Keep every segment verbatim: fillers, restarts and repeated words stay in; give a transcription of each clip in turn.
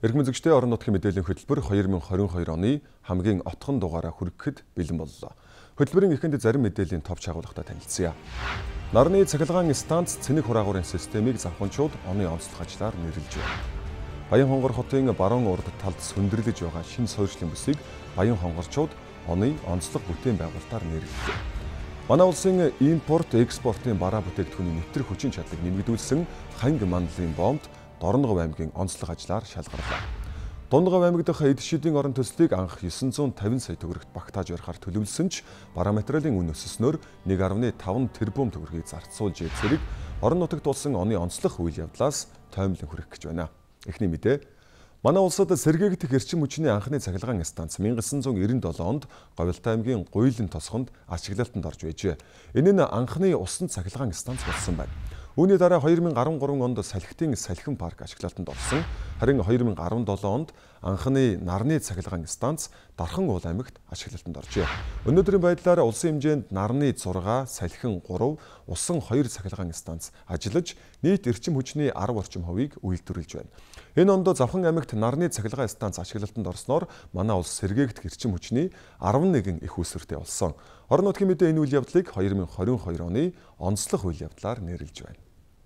Иргэн үзэгчдээ орон нутгийн мэдээллийн хөтөлбөр хоёр мың хорин хоёр оны хамгийн отхон дугаараа хүрэхэд бэлэн боллоо. Хөтөлбөрийн эхэнд зарим мэдээллийн товч агуулгатай танилцъя. Нарны цахилгаан станц цэник хураагуурын системийг завханчууд оны онцлог ажлаар нэрлэж байна. Баян хонгор хотын баруун урд талд сөндөрлөж байгаа шинэ суурьшлийн бүсийг Баян хонгорчууд оны онцлог бүтээн байгуулалтаар нэрлэлээ. Манай улсын импорт, экспортын бараа бүтээгдэхүүний нэвтрэх хүчин чадлыг нэмэгдүүлсэн Ханг мандлын бомбд Дорногов аймгийн онцлог ажлаар шалгарлаа. Дундгов аймаг дахь эд шидийн орон төслийг анх есөн зуун тавин сая төгрөгт багтааж ярихаар төлөвлөсөн ч бараа материалын үн өсснөөр нэг дасам таван тэрбум төгрөгийг зарцуулж зэрэг орон нутагт болсон оны онцлог үйл явдлаас тоймлон хүрэх гэж байна. Эхний мэдээ. Манай улсад сэргээгдэх эрчим хүчний анхны цахилгаан станц 천구၉chín онд Говьлтай аймгийн Гуйлан тосгонд ашиглалтанд орж байжээ. Энэ нь анхны усан цахилгаан станц болсон байна. Үүний дараа хоёр мың арван гурван онд салхитын салхин парк ашиглалтанд орсон. Харин хоёр мың арван долоо онд анхны нарны цахилгаан станц Дархан уул аймагт ашиглалтанд оржээ. Өнөөдрийн байдлаар улсын хэмжээнд нарны зураг, салхин гурав, усан хоёр цахилгаан станц ажиллаж нийт эрчим хүчний арав орчим хувийг үйлдвэрлэж байна. Энэ онд Завхан аймагт нарны цахилгаан станц ашиглалтанд орсноор манай улс сэргээгдэх эрчим хүчний арван нэгэн их үүсвэртэй болсон. Орон нутгийн мэдээ энэ үйл явдлыг хоёр мың хорин хоёр оны онцлог үйл явдлаар нэрлэж байна.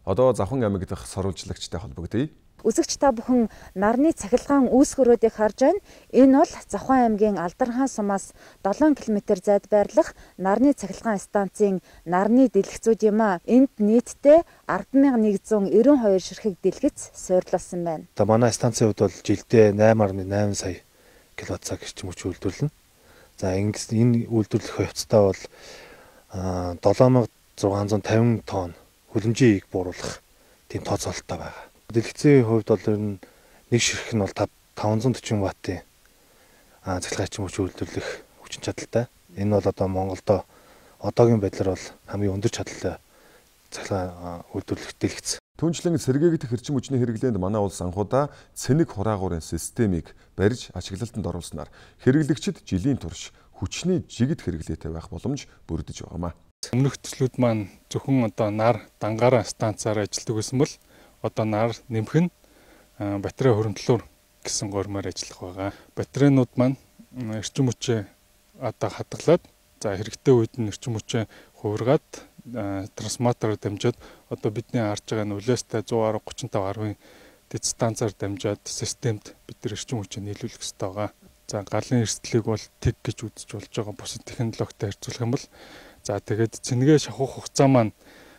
Одоо Завхан аймаг дахь сурвалжлагчтай холбогдъё. Үзэгч та бүхэн нарны цахилгаан үүсгэрүүдийг харж байна. Энэ бол Завхан аймгийн Алдархан сумаас долоон километр зайд байрлах нарны цахилгаан станцын нарны дэлгэцүүд юм а. Энд нийтдээ ардсан мянган нэгэн зуун найман хоёр ширхэг дэлгэц суйрлуулсан байна. За манай станцын хувьд бол жилдээ найман гаруй найман сая киловатт цаг эрчим хүч үйлдвэрлэнэ. За ингэж энэ үйлдвэрлэх хувьцаа бол долоон мянган зургаан зуун тавин тонн хүлэмжийг бууруулах тийм тооцоололтой байгаа. Дэлгэцийн хувьд бол ер нь нэг ширхэг нь бол таван зуун дөрвөн ваттын цахилгаан эрчим хүч үйлдвэрлэх хүчин чадалтай. Энэ бол одоо Монголдо одоогийн байдлаар бол хамгийн өндөр чадалтай цахилгаан үйлдвэрлэх дэлгэц. Түүнчлэн сэргээгдэх эрчим хүчний хэрэглээнд манай улс анхудаа цэник хураагуурын системийг барьж ашиглалтанд оруулснаар хэрэглэгчид жилийн турш хүчний жигд хэрэглээтэй байх боломж бүрдэж байгаамаа. Өмнөх төслүүд маань зөвхөн одоо нар дангаараа станцаар ажилладаг байсан бол одоо нар нэмэх нь батарей хөрөмтлөөр гэсэн гормоор ажиллах байгаа. Батарейнууд маань эрчим хүчээ одоо хадгалаад за хэрэгтэй үед нь эрчим хүчээ хувиргаад трансформатороор дамжаад одоо бидний харж байгаа нь улаастай зуун арван гучин тав арвын дэд станцаар дамжаад системд бид нар эрчим хүчээ нийлүүлэх хэрэгтэй байгаа. За галын эрсдлийг бол тэг гэж үзэж болж байгаа бусад технологитой харьцуулах юм бол за тэгээд цэнгээ шахах хугацаа маань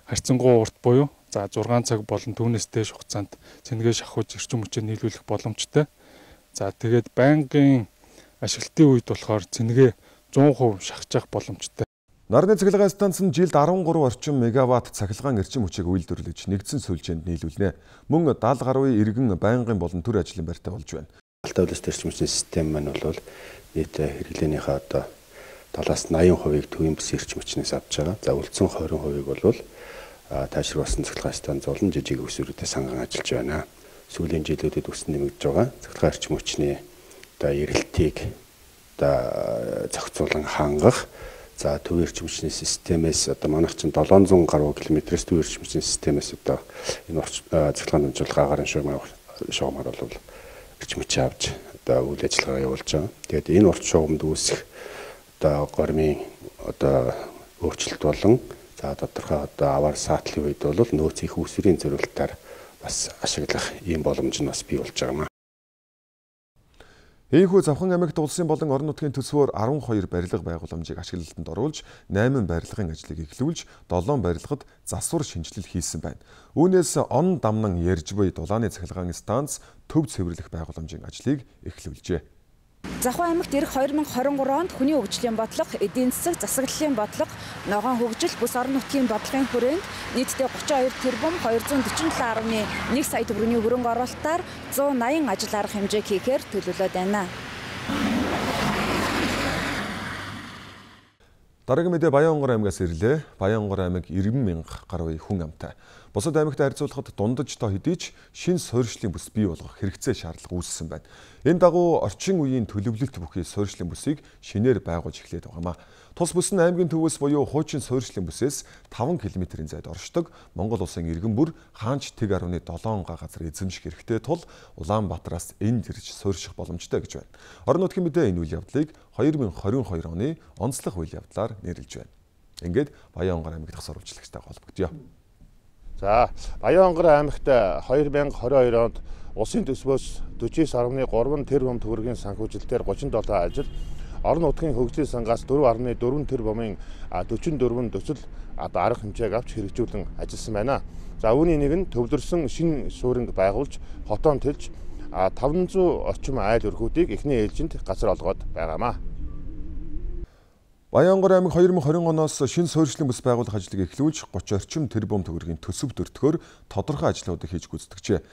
харьцангуй урт буюу за зургаан цаг болон түүнээс дээш хугацаанд цэнгээ шахууж эрчим хүчээ нийлүүлэх боломжтой. За тэгээд байнгын ашиглалтын үед болохоор цэнгээ зуун хувь шахаж боломжтой. Нарны цахилгаан станц нь жилд арван гурван орчим мегаватт цахилгаан эрчим хүчийг үйлдвэрлэж нэгдсэн сүлжээнд нийлүүлнэ. Мөн даалга гаруй иргэн байнгын болон төр ажлын байртай болж байна. Алтай улс эрчим хүчний систем маань бол нийт хэрэглээнийхээ одоо талаас найман хувийг төвийн бүс эрчим хүчнээс авч байгаа. За үлдсэн хорин хувийг бол таашруулсан цахилгаан станц болон жижиг өсвөрүүдэд санган ажиллаж байна. Сүүлийн жилүүдэд өссөн нэмэгдэж байгаа. Цахилгаан эрчим хүчний одоо эрэлтийг одоо зохицуулан хангах за төвийн эрчим хүчний системээс одоо манайх чинь долоон зуун гаруй километрээс төвийн эрчим хүчний системээс одоо энэ цахилгаан дамжуулах агаарын шугамар шугамар бол эрчим хүчээ авч одоо үйл ажиллагаа явуулж байгаа. Тэгээд энэ урт шугамд үүсэх одоо гормын одоо өөрчлөлт болон за тодорхой одоо аваар саатлын үед бол нөөц их үүсвэрийн зорилтоор бас ашиглах ийм боломж нь бас бий болж байгаа юм. Ийхүү Завхан аймагт улсын болон орон нутгийн төсвөөр арван хоёр барилга байгууламжийг ашиглалтанд оруулж найман барилгын ажлыг эхлүүлж долоон барилгад засвар шинжилэл хийсэн байна. Үүнээс он дамнан ярьж буй дулааны цахилгаан станц төв цэвэрлэх байгууламжийн ажлыг эхлүүлжээ. Завхан аймагт ирэх хоёр мың хорин гурван онд хүний хөгжлийн бодлого, эдийн засаг, засаглалын бодлого, ногоон хөгжил, бүс орон нутгийн бодлогын хүрээнд нийтдээ гучин хоёр тэрбум хоёр зуун дөрвөн талын арван нэг сая төгрөгийн хөрөнгө оруулалтаар зуун найман ажил арга хэмжээг хийхээр төлөвлөд байна. Дараагийн мэдээ Баян хонгор аймгаас ирлээ. Баян хонгор аймаг найман мянга гаруй хүн амтай. Бусад аймагтай харьцуулахад дундаж тоо хэдий ч шинэ суурьшлийн бүс бий болгох хэрэгцээ шаардлага үүссэн байна. Энэ дагуу орчин үеийн төлөвлөлт бүхий суурьшлийн бүсийг шинээр байгуулж эхлээд байгаамаа. Тус бүс нь аймгийн төвөөс буюу хуучин суурьшлийн бүсээс таван километрийн зайд оршдог Монгол улсын иргэн бүр хаанч тэг арваны долоон га газар эзэмших хэрэгтэй тул Улаанбаатараас энд ирж суурьших боломжтой гэж байна. Орон нутгийн мэдээ энэ үйл явдлыг хоёр мың хорин хоёр оны онцлог үйл явдлаар нэрлэж байна. Ингээд Баянгар аймаг дахь сурвалжлагчтай холбогдъё. За, Баянгар аймагт хоёр мың хорин хоёр онд улсын төсвөөс дөрвөн сарвны гурван тэрбум төгрөгийн санхүүжилтээр гучин долоо ажил, орон нутгийн хөгжлийн сангаас дөрвөн сарвны дөрвөн тэрбумын дөрвөн дөрвөн төсөл одоо арга хэмжээг авч хэрэгжүүлэн ажилласан байна. За, үүний нэг нь төвлөрсөн шинэ сууринг байгуулж хотоон тэлж таван зуун орчим айл өрхүүдийг эхний ээлжинд газар олгоод байгаамаа. Баянгар аймаг хоёр мың хорин оноос шинэ суурьшлийн бүс байгуулах ажлыг эхлүүлж гучин орчим тэрбум төгрөгийн төсөв төртгөөр тодорхой ажлуудыг хийж гүйцэтгэжээ.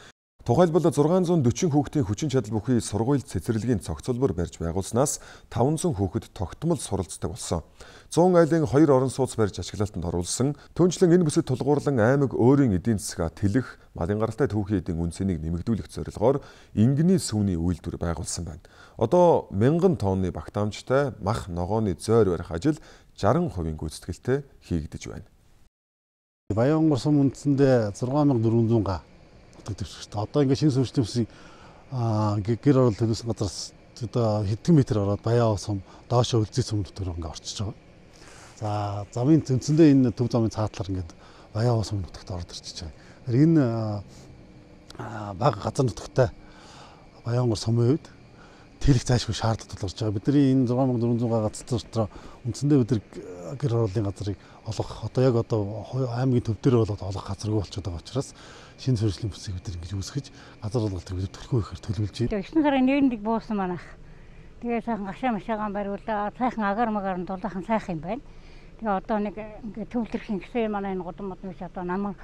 Тухайлбал зургаан зуун дөрвөн хүүхдийн хүчин чадал бүхий сургууль цэцэрлэгийн цогцлбор барьж байгуулснаас таван зуун хүүхэд тогтмол суралцдаг болсон. зуун айлын хоёр орон сууц барьж ашиглалтанд оруулсан. Түүнчлэн энэ бүсэд тулгуурлан аймаг өөрийн эдийн засгаа тэлэх, малын гаралтай түүхийн эдийн үнцнийг нэмэгдүүлэх зорилгоор ингэний сүүний үйлдвэр байгуулсан байна. Одоо мянган тонны багтаамжтай мах ногооны зойр барих ажил жаран хувийн гүйцэтгэлтэй хийгдэж байна. Баянгар сум үндсэндээ зургаан мянга дөрвөн зуун га төвчтэй. Одоо ингээд шинэ суурьшлийн бүсийг гэр орол төлөвсөн газараас одоо хэдэн метр ороод Баян сум доошоо үлзий сум дотор ингээд орчиж байгаа. За замын тэнцэндээ энэ төв замын цаатлаар ингээд Баян сум нутагт ороод ирчихэж байгаа. Энэ бага газар нутагтай Баянгар сумын үед тэлэх зайлшгүй шаардлага тулгарч байгаа. Бидний энэ зургаан мянга дөрвөн зуун га газар дотор үндсэндээ бид гэр оролын газрыг олгох одоо яг одоо аймгийн төв дээр болоод олгох газаргүй болчиход байгаа учраас шинэ суурьшлийн бүсийг бид ингэж үүсгэж газар олголтыг бид төлхөө ихээр төлөвлөж байна. Эгчнэр сарын нэгдүгээр буусан манайх. Тэгээ сайхан гашаа машаагаан бариулаа. Сайхан агаар магаар нь дулаахан сайхан юм байна. Тэгээ одоо нэг ингээ төвлөрхийн гэсэн манай энэ гудам мод биш одоо наман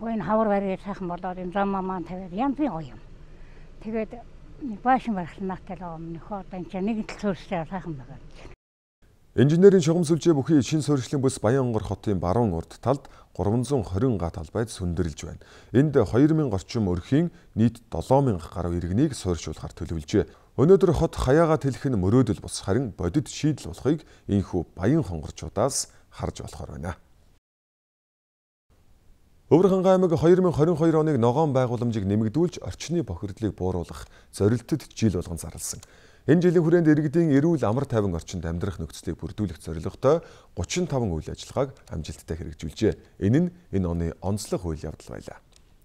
энэ хавар бариад сайхан болоод энэ зам маань тавиад янзын гоё юм. Тэгээд нэг баашин барахлаатай л юм нөхөө одоо энэ чинь нэг л суурьшаа сайхан байгаа. Инженерийн шугам сүлжээ бүхий шинэ суурьшлийн бүс Баянгар хотын баруун урд талд гурван зуун хорин га талбайд сүндэрлэж байна. Энд хоёр мянга орчим өрхийн нийт долоон мянга гаруй иргэнийг суурьшуулахар төлөвлөжээ. Өнөөдөр хот хаяага тэлэх нь мөрөөдөл бус харин бодит шийдэл болохыг энэхүү баян хонгорчуудаас харж болохоор байна. Өвөрхангай аймаг хоёр мың хорин хоёр оныг ногоон байгууламжийг нэмэгдүүлж орчны бохирдлыг бууруулах зорилтод жил болгон зарласан. Энэ жилийн хүрээнд иргэдийн эрүүл амар тайван орчинд амьдрах нөхцөлийг бүрдүүлэх зорилготой гучин таван үйл ажиллагааг амжилттай хэрэгжүүлжээ. Энэ нь энэ оны онцлог үйл явдал байлаа.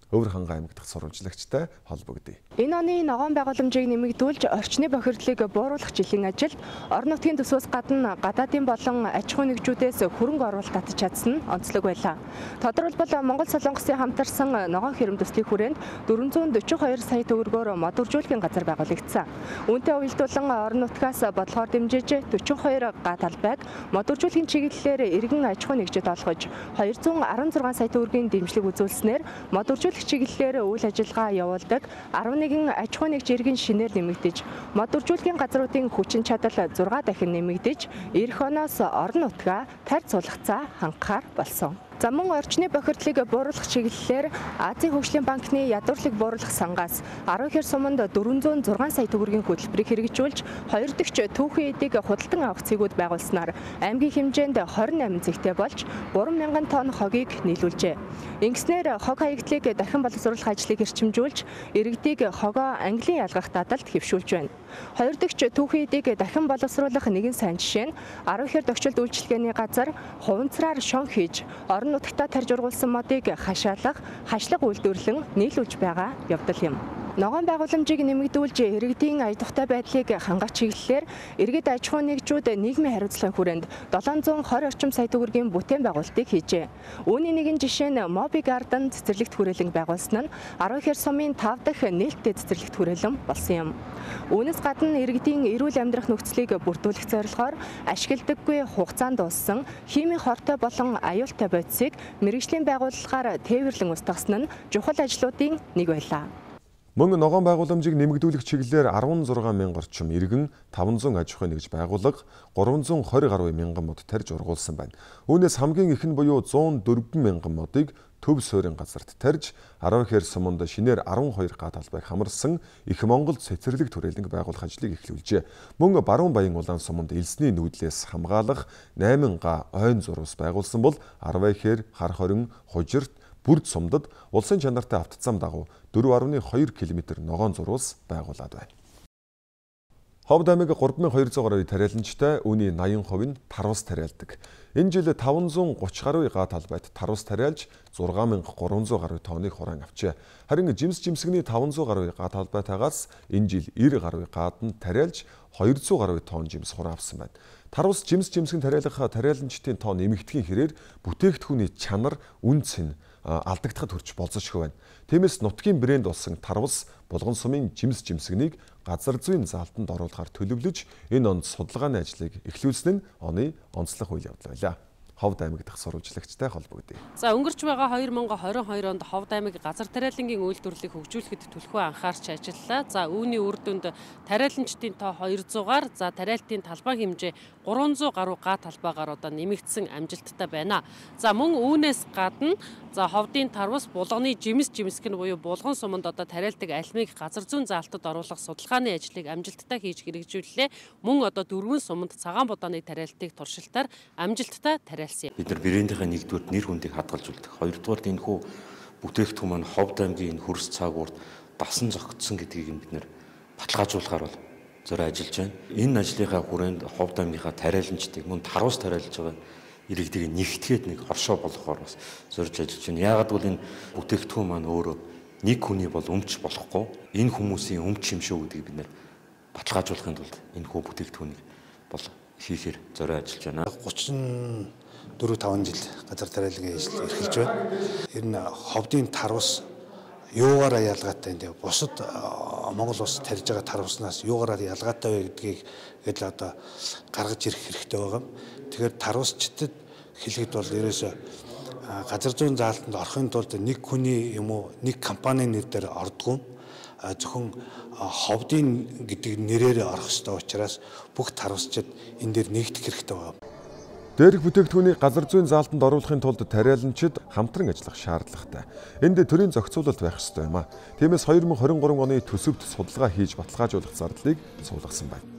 Өвөрхангай аймаг дахь сурвалжлагчтай холбогдъё. Энэ оны ногоон байгууламжийг нэмэгдүүлж орчны бохирдлыг бууруулах жилийн ажилд орон нутгийн төсвөөс гадна гадаадын болон аж ахуй нэгжүүдээс хөрөнгө оруулалт татж чадсан нь онцлог байлаа. Тодорхойлбол Монгол Солонгосын хамтарсан ногоон хэрэм төслийн хүрээнд дөрвөн зуун дөрвөн хоёр сая төгрөгөөр модуржуулгын газар байгуулагдсан. Үүнтэй уялдуулан орон нутгаас бодлогоор дэмжиж дөрвөн хоёр га талбайг модуржуулгын чиглэлээр иргэн аж ахуй нэгжид олгож хоёр зуун арван зургаан сая төгрөгийн дэмжлэг үзүүлснээр модуржуулгын чиглэлээр үйл ажиллагаа явуулдаг арван нэгэн аж ахуй нэгж иргэн шинээр нэмэгдэж, модуржуулгын газруудын хүчин чадал зургаа дахин нэмэгдэж, эх оноос орон нутгаа тарь суулгацаа хангахаар болсон. За мөн орчны бохирдлыг бууруулах чиглэлээр Азийн хөгжлийн банкны ядуурлыг бууруулах сангаас арван хэр суманд дөрвөн зуун зургаан сая төгрөгийн хөтөлбөрийг хэрэгжүүлж хоёр дахь түүхийн эдийг худалдан авах цэгүүд байгуулснаар аймгийн хэмжээнд хорин найман цэгтэй болж гурван мянган тонн хогийг нийлүүлжээ. Ингэснээр хог хаягдлыг дахин боловсруулах ажлыг эрчимжүүлж, иргэдийг хогоо английн ялгах дадалд хэвшүүлж байна. Хоёр дахь түүхийн эдийг дахин боловсруулах нэгэн сайн жишээ нь арван хэр догчилд үйлчилгээний газар хуванцраар шон хийж орон нутагтаа тарж ургуулсан модыг хашаалах, хашлага үйлдвэрлэн нийлүүлж байгаа явдал юм. Ногоон байгууламжийг нэмэгдүүлж иргэдийн ая тухтай байдлыг хангах чиглэлээр иргэд аж ахуй нэгжүүд нийгмийн хариуцлагын хүрээнд долоон зуун хорин орчим сая төгрөгийн бүтээн байгуулалтыг хийжээ. Үүний нэгэн жишээ нь Моби Garden цэцэрлэгт хүрээлэн байгуулсан нь арван хэр сумын тав дахь нээлттэй цэцэрлэгт хүрээлэн болсон юм. Үүнээс гадна иргэдийн эрүүл амьдрах нөхцөлийг бүрдүүлэх зорилгоор ашигладаггүй хугацаанд дууссан химийн хортой болон аюултай бодисыг мэргэжлийн байгууллагаар тээвэрлэн устгасан нь чухал ажлуудын нэг байлаа. Мөн ногоон байгууламжийг нэмэгдүүлэх чиглэлээр арван зургаан мянга орчим иргэн таван зуун аж ахуй нэгж байгууллага гурван зуун хорин гаруй мянган мод тарж ургуулсан байна. Үүнээс хамгийн их нь буюу зуун дөрвөн мянган модыг төв суурин газарт тарж Аравхэр суманд шинээр арван хоёр га талбайг хамарсан Их Монголд цэцэрлэг төрөлнг байгуулах ажлыг эхлүүлжээ. Мөн Баруун Баян улаан суманд элсний нүүдлээс хамгаалах найман га ойн зурвас байгуулсан бол Аравхэр, Хар хорин, Хужирт, Бүрд сумдад улсын чанартай автоцам дагуу дөрвөн арван хоёр километр ногоон зурвас байгуулад байна. Ховд аймаг гурван мянган хоёр зуун гаруй тариаланчтай үүний наян хувь нь тарвас тариалдаг. Энэ жил таван зуун гуравч гаруй га талбайд тарвас тариалж зургаан мянга гурван зуун гаруй тонныг хураан авчээ. Харин жимс жимсгний таван зуун гаруй га талбайтаагаас энэ жил нэр гаруй гад нь тариалж хоёр зуун гаруй тонн жимс хураан авсан байна. Тарвас жимс жимсгэн тариалах тариаланчдын тоо нэмэгдэхийн хэрээр бүтээгдэхүүний чанар үн цэн алдагдахад хүрч болцошгүй байна. Тиймээс нутгийн брэнд болсон тарвас Булган сумын жимс жимсгнийг газар зүйн заалтанд оруулахаар төлөвлөж энэ онд судалгааны ажлыг эхлүүлсэн нь оны онцлог үйл явдал байлаа. Ховд аймаг дахь сурвалжлагчтай холбогдъё. За өнгөрч байгаа хоёр мянган хорин хоёр онд Ховд аймаг газар тариалангийн үйлдвэрлэлийг хөгжүүлэхэд төлхөө анхаарч ажиллалаа. За үүний үр дүнд тариаланчдын тоо хоёр зугаар, за тариалтын талбай хэмжээ гурван зуун гаруй га талбайгаар одоо нэмэгдсэн амжилттай байна. За мөн үүнээс гадна за Ховдын тарвас булганы жимс жимсгэн буюу Булган суманд одоо тариалдаг альмиг газар зүйн заалтад оруулах судалгааны ажлыг амжилттай хийж хэрэгжүүллээ. Мөн одоо дөрвөн суманд цагаан будааны тариалтыг туршилтаар амжилттай тариалсан. Бид нар брэндийнхээ нэгдүгээр нэр хүндийг хадгалж үлдэх. Хоёрдугаар энэ хүү бүтээгдэхүүн маань Ховд аймгийн энэ хөрс цаагуурд дасан зохицсон гэдгийг бид нар баталгаажуулахаар бол зорио ажиллаж байна. Энэ ажлынхаа хүрээнд Ховд аймгийнхаа тариаланчдыг мөн тарвас тариалж байгаа иргэдийг нэгтгэхэд нэг хоршоо болгохоор бас зорж ажиллаж байна. Яагаад гэвэл энэ бүтээгдэхүүн маань өөрөө нэг хүний бол өмч болохгүй. Энэ хүмүүсийн өмч юм шүү гэдгийг бид нар баталгаажуулахын тулд энэ хүү бүтээгдэхүүнийг бол хийхээр зорио ажиллаж байна. гучин дөрөв таван жил газар тариалангийн ажил эрхэлж байна. Энэ нь Ховдын тарвас юугаараа ялгаатай энэ бусад Монгол улс тарьж байгаа тарваснаас юугаараа ялгаатай вэ гэдгийг гэдэл одоо гаргаж ирэх хэрэгтэй байгаа. Тэгэхээр тарвасчдад хэлэхэд бол ерөөсөө газар зүйн заалтанд орохын тулд нэг хүний юм уу нэг компанийн нэр дээр ордгоо зөвхөн Ховдын гэдэг нэрээр орох ёстой учраас бүх тарвасчид энэ дээр нэгдэх хэрэгтэй байна. Дээрх бүтээгдэхүүнийг газар зүйн заалтанд оруулахын тулд тариаланчид хамтран ажиллах шаардлагатай. Энд төрийн зохицуулалт байх ёстой юм а. Тиймээс хоёр мянган хорин гурван оны төсөвт судалгаа хийж баталгаажуулах зардлыг суулгасан байна.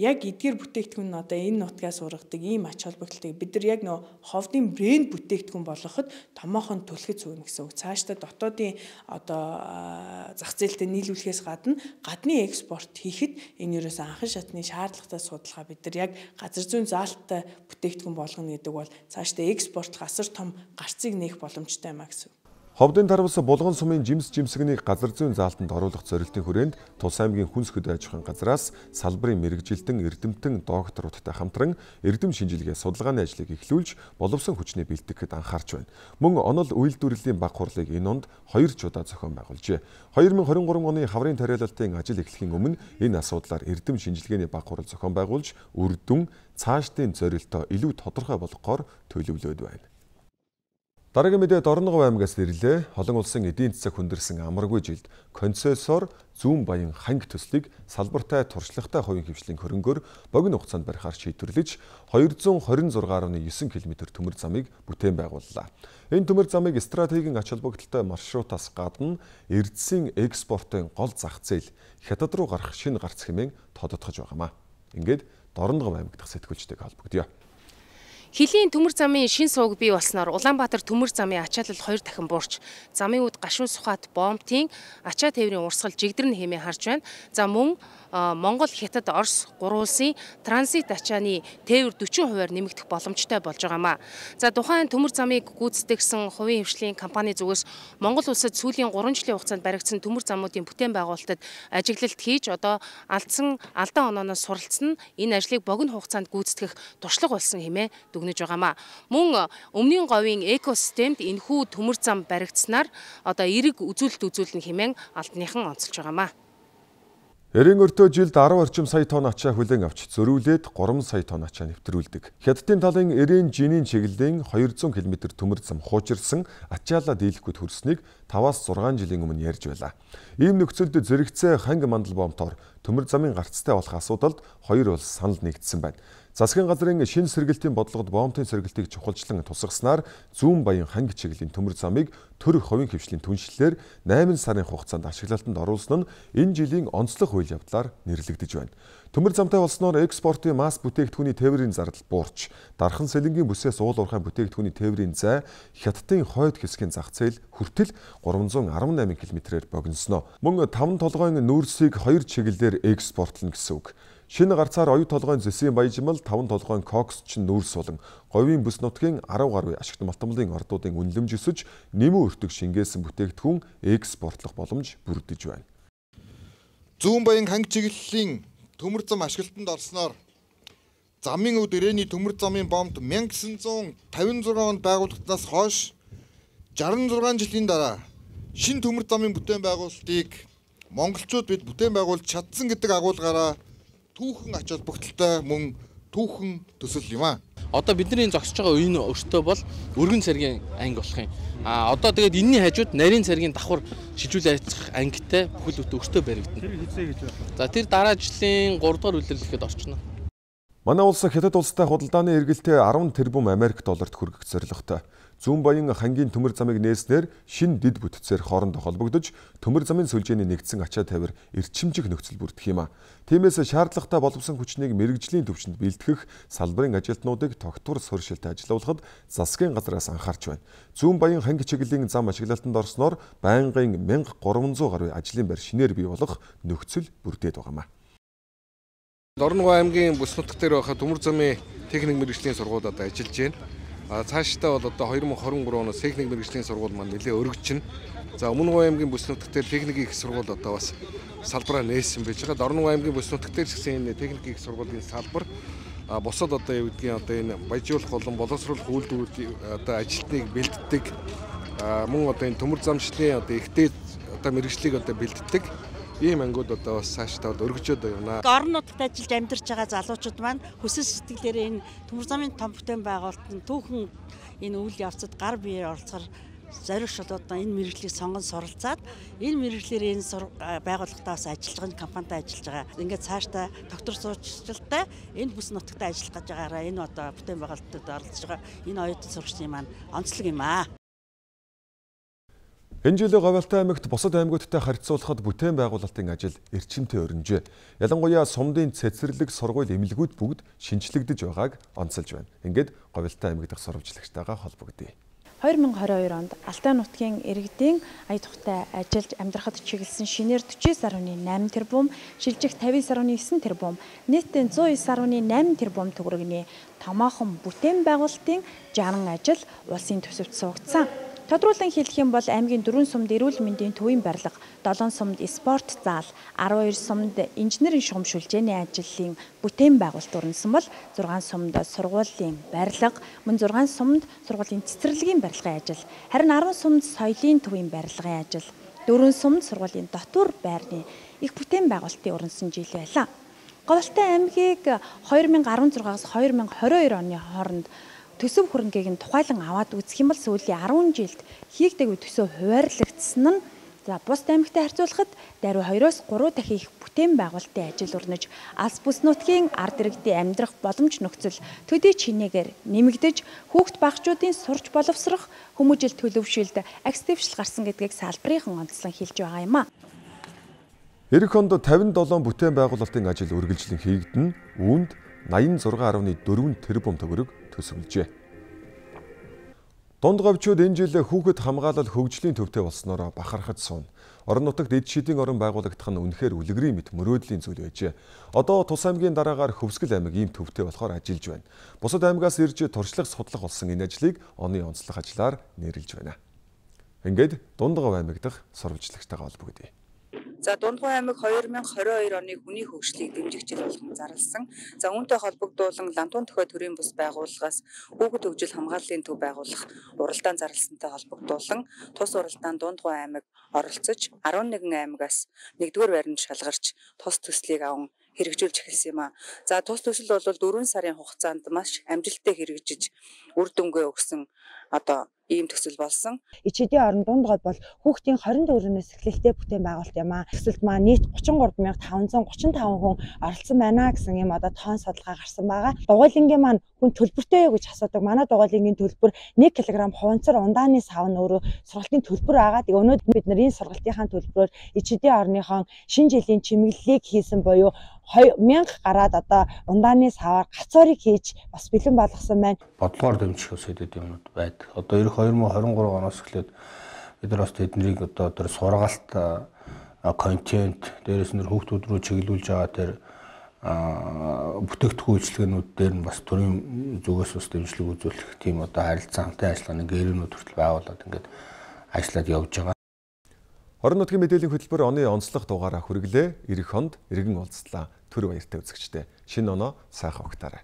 Яг эдгээр бүтээгдэхүүн нь одоо энэ нутгаас ургадаг ийм ач холбогдолтой бид нар яг нөө Ховдын брэнд бүтээгдэхүүн болгоход томоохон түлхэж сууна гэсэн үг. Цаашдаа дотоодын одоо зах зээлтэй нийлүүлэхээс гадна гадны экспорт хийхэд энэ ерөөс анхан шатны шаардлагатай судалгаа бид нар яг газар зүйн заалттай бүтээгдэхүүн болгоно гэдэг бол цаашдаа экспортлох асар том гарцыг нээх боломжтой юм а гэсэн. Ховдын тарвас Булган сумын жимс жимсгнийг газар зүйн заалтанд оруулах зорилтын хүрээнд Тус аймгийн хүнс хөдөө аж ахуйн газраас салбарын мэрэгжилтэн эрдэмтэн докторуудтай хамтран эрдэм шинжилгээ судалгааны ажлыг эхлүүлж боловсон хүчний бэлтгэхэд анхаарч байна. Мөн онол үйлдвэрлэлийн баг хурлыг энэ онд хоёр ч удаа зохион байгуулжээ. хоёр мянган хорин гурван оны хаврын тариалалтын ажил эхлэхийн өмнө энэ асуудлаар эрдэм шинжилгээний баг хурал зохион байгуулж үр дүн цаашдын зорилтоо илүү тодорхой болгохоор төлөвлөд байна. Дараагийн мэдээ Дорногов аймгаас ирлээ. Олон улсын эдийн засаг хүндэрсэн амаргүй жилд концессор Зүүн Баян ханги төслийг салбартай туршлагатай хувийн хвшлийн хөрөнгөөр богино хугацаанд барихаар шийдвэрлэж хоёр зуун хорин зургаан гаруй девять км төмөр замыг бүтээн байгууллаа. Энэ төмөр замыг стратегийн ач холбогдолтой маршрутаас гадна эрдэсийн экспортын гол зах зээл Хятад руу гарах шинэ гарц хэмээн тодотгож байгаамаа. Ингээд Дорногов аймаг дахь сэтгүүлчтэй холбогдъё. Хилийн төмөр замын шин сууг бий болсноор Улаанбаатар төмөр замын ачаалал хоёр дахин буурч, замын үд гашуун сухат бомбтын ачаа тээврийн урсгал жигдэрнэ хэмээн харж байна. За мөн Монгол, Хятад, Орос гурван улсын транзит ачааны тээвэр дөрвөн хувиар нэмэгдэх боломжтой болж байгаамаа. За тухайн төмөр замыг гүйцэтгэсэн хувийн хвшлийн компани зүгээс Монгол улсад сүүлийн гурван жилийн хугацаанд баригдсан төмөр замуудын бүтээн байгуулалтад ажиглалт хийж одоо алдсан алдаан онооноос суралцсан энэ ажлыг богино хугацаанд гүйцэтгэх туршлага болсон хэмээн дүгнэж байгаамаа. Мөн өмнгийн говийн экосистемд энэхүү төмөр зам баригдсанаар одоо эерэг үзүүлэлт үзүүлнэ хэмээн албаныхан онцолж байгаамаа. Эрийн өртөө жилд арван орчим сая тонн ачаа хүлээн авч зөрүүлээд гурван сая тонн ачаа нэвтрүүлдэг. Хятадын талын Эрийн жинийн чиглэлийн хоёр зуун км төмөр зам хуучирсан ачаалаа дийлэхгүйд хүрснийг таваас зургаан жилийн өмнө ярьж байлаа. Ийм нөхцөлд зэрэгцээ ханги мандал бомтоор төмөр замын гарцтай болох асуудалд хоёр улс санал нэгдсэн байна. Засгийн газрын шинэ сэргэлтийн бодлогод боомтын сэргэлтийг чухалчлан тусгаснаар зүүн баян ханги чиглэлийн төмөр замыг төр хувийн хвшлийн түншлэлээр найман сарын хугацаанд ашиглалтанд оруулсан нь энэ жилийн онцлог үйл явдлаар нэрлэгдэж байна. Төмөр замтай болсноор экспортын масс бүтээгдэхүүний тээврийн зардал буурч, дархан сэлэнгийн бүсээс уул уурхай бүтээгдэхүүний тээврийн зай хятадын хойд хэсгийн зах зээл хүртэл гурван зуун арван найман километрээр богиносноо. Мөн таван толгойн нүүрсийг хоёр чиглэлээр экспортлно гэсэн үг. Шинэ гарцаар оюу толгойн зэсийн баяжмал, таван толгойн коксчин нүүрс болон говийн бүс нутгийн арав гаруй ашигт малтмалын ордуудын үнэлэмж өсөж, нэмэн өртөг шингээсэн бүтээгдэхүүн экспортлох боломж бүрдэж байна. Зүүн баян ханги чиглэлийн төмөр зам ашиглалтанд орсноор замын өв дэрээний төмөр замын боомт мянга гэсэн зуун тавин зургаан онд байгуулагдсанаас хойш жаран зургаан жилийн дараа шинэ төмөр замын бүтээн байгуулалтыг монголчууд бид бүтээн байгуулж чадсан гэдэг агуулгаараа түүхэн ач холбогдолтой мөн түүхэн төсөл юм аа. Одоо бидний зогсож байгаа үеийн өртөө бол өргөн цэргийн анги болох юм. А одоо тэгээд энэний хажууд нарийн цэргийн давхар шилжүүл айцах ангитай бүхэл бүтэн өртөө баригдана. Тэр хэзээ гэж байна? За тэр дараа жилийн гурав дахь үйлрэлэхэд орчихно. Манай улс Хятад улстай худалдааны эргэлтээ арван тэрбум Америк долларт хүргэх зорилготой. Зүүн баян хангийн төмөр замыг нээснээр шин дид бүтцээр хоорондоо холбогдож, төмөр замын сүлжээний нэгдсэн ачаа тавир эрчимжих нөхцөл бүрдэх юм а. Тиймээс шаардлагатай боловсон хүчнийг мэрэгжлийн түвшинд бэлтгэх салбарын ажилтнуудыг тогтвор суурьшилтай ажиллуулахад засгийн газраас анхаарч байна. Зүүн баян ханги чиглэлийн зам ашиглалтанд орсноор байнгын мянга гурван зуун гаруй ажлын байр шинээр бий болох нөхцөл бүрдээд байгаа юм а. Дорногов аймгийн бүс нутаг дээр байхад төмөр замын техник мэрэгжлийн сургууль одоо ажиллаж байна. А цаашдаа бол одоо хоёр мың хорин гурав оноос техник мэрэгжлийн сургууль маань нэлээд өргөжчин. За Өмнөг аймгийн бүс нутаг дээр техникийн их сургууль одоо бас салбараа нээсэн байж байгаа. Дорногов аймгийн бүс нутаг дээр гэсэн энэ техникийн их сургуулийн салбар а бусад одоо юу гэдгийг одоо энэ баяжуулах болон боловсруулах үйлдвэрүүд одоо ажилтныг бэлддэг. А мөн одоо энэ төмөр замчлалын одоо ихтэй одоо мэрэгжлийг одоо бэлддэг. Ийм ангууд одоо бас цаашдаа өргөжөөд байна. Орон нутагт ажиллаж амьдарч байгаа залуучууд маань хүсэл сэтгэлээр энэ төмөр замын том бүтээн байгуулалтанд түүхэн энэ үйл явцад гар биеэр оролцохоор зориулшууд одоо энэ мэрэгжлийг сонгон суралцаад энэ мэрэгжлэр энэ байгууллагатаа бас ажиллаж байгаа компанитай ажиллаж байгаа. Ингээд цаашдаа доктор суурьшилтай энэ бүс нутагт ажиллах гэж байгаараа энэ одоо бүтээн байгуулалтад оролцож байгаа энэ оюутан сурагчдын маань онцлог юм аа. Энэ жилийн Говьалтай аймагт бусад аймагуудтай харьцуулахад бүтээн байгуулалтын ажил эрчимтэй өрнөжээ. Ялангуяа сумдын цэцэрлэг, сургууль, эмнэлгүүд бүгд шинчлэгдэж байгааг онцолж байна. Ингээд Говьалтай аймаг дахь сурвалжлагчтайгаа холбогдъё. хоёр мың двадцать хоёр онд Алтай нутгийн иргэдийн ая тухтай ажиллаж амьдрахад чиглэсэн шинээр forty-nine point eight тэрбум, шилжих fifty point nine тэрбум, нийтдээ one hundred nine point eight тэрбум төгрөгийн томоохон бүтээн байгуулалтын sixty ажил улсын төсөвт суугдсан. Тодруулан хэлэх юм бол аймгийн дөрвөн сумд эрүүл мэндийн төвийн барилга, долоон сумд спорт зал, twelve сумд инженерийн шугамшуулжээний ажлын бүтээн байгуулалт өрнөсөн бол six сумд сургуулийн барилга, мөн six сумд сургуулийн цэцэрлэгийн барилгын ажил, харин ten сумд соёлын төвийн барилгын ажил, four сумд сургуулийн дотор байрны их бүтээн байгуулалтын өрнөсөн жил байлаа. Говьалтай аймгийг two thousand sixteen-аас two thousand twenty-two оны хооронд төсөв хөрөнгийг нь тухайлан аваад үзэх юм бол сүүлийн ten жилд хийгдэггүй төсөв хуваарлагдсан нь за бус аймагтай харьцуулахад даруй two-оос three дахин их бүтээн байгуулалтын ажил өрнөж алс бүс нутгийн ард иргэдийн амьдрах боломж нөхцөл төдий чинээгээр нэмэгдэж хүүхд багчуудын сурч боловсрох хүмүүжил төлөвшөлд актившил гарсан гэдгийг салбарынхан онцлон хэлж байгаа юм а. Эх онд fifty-seven бүтээн байгуулалтын ажил үргэлжлэн хийгдэн үүнд eighty-six point four тэрбум төгрөг төсөвлөжээ. Дунд говьчууд энэ жил хүүхэд хамгаалал хөгжлийн төвтэй болсноор бахархаж сууна. Орон нутагт эд шидийн орон байгуулагдах нь үнэхээр үлгэрийн мэт мөрөөдлийн зүйл байжээ. Одоо Тус аймгийн дараагаар Хөвсгөл аймаг ийм төвтэй болохоор ажиллаж байна. Бусад аймгаас ирж туршлага судлах болсон энэ ажлыг оны онцлог ажлаар нэрлэж байна. Ингээд Дундгов аймаг дахь сурвалжлагчтайгаа холбогдъё. За Дундгов аймаг two thousand twenty-two оны хүний хөгжлийг дэмжих жил болгон зарласан. За үүнтэй холбогдуулан Лантун төхөө төрийн бус байгууллагаас хүүхэд хөгжил хамгааллын төв байгуулах уралдаан зарласантай холбогдуулан тус уралдаанд Дундгов аймаг оролцож eleven аймагаас нэгдүгээр байранд шалгарч тус төслийг аван хэрэгжүүлж эхэлсэн юм а. За тус төсөл бол four сарын хугацаанд маш амжилттай хэрэгжиж үр дүнгээ өгсөн одоо ийм төсөл болсон. Ичээдийн орон дунд гол бол хүүхдийн хорин төгрөгнөөс эхлэлтэй бүтээн байгуулалт юм аа. Төсөлд маань нийт гучин гурван мянга таван зуун гучин таван хүн оролцсон байна гэсэн юм одоо тоон судалгаа гарсан байгаа. Дугуйлангийн маань хүн төлбөртэй юу гэж асуудаг. Манай дугуйлангийн төлбөр нэг килограмм хуванцар ундааны сав нь өөрөө сургалтын төлбөр байгаа. Тэгээ өнөөдөр бид нар энэ сургалтынхаа төлбөрөөр ичээдийн орныхон шинэ жилийн чимэглэлийг хийсэн буюу мянга гараад одоо ундааны саваар гацуурыг хийж бас бэлэн болгосон байна. Бодлогоор дэмжих сэдэд юмнууд байдаг. Одоо эх хоёр мянга хорин гурав оноос эхлээд бид нар бас тэднийг одоо тэр сургаалт контент дээрээс нь хүүхдүүд рүү чиглүүлж байгаа тэр бүтээгдэхүүн үйлчилгээнүүд дээр нь бас төрийн зүгээс бас дэмжлэг үзүүлэх тийм одоо харилцан хамтын ажиллагааны гэрүүнүүд хүртэл байгуулад ингээд ажиллаад явж байгаа. Хорон нутгийн мэдээллийн хөтөлбөр оны онцлог дугаараа хүргэлээ. Ирэх хонд иргэн уулзлаа. Түр баяртай үзэгчдээ. Шинэ оноо сайхан угтаарай.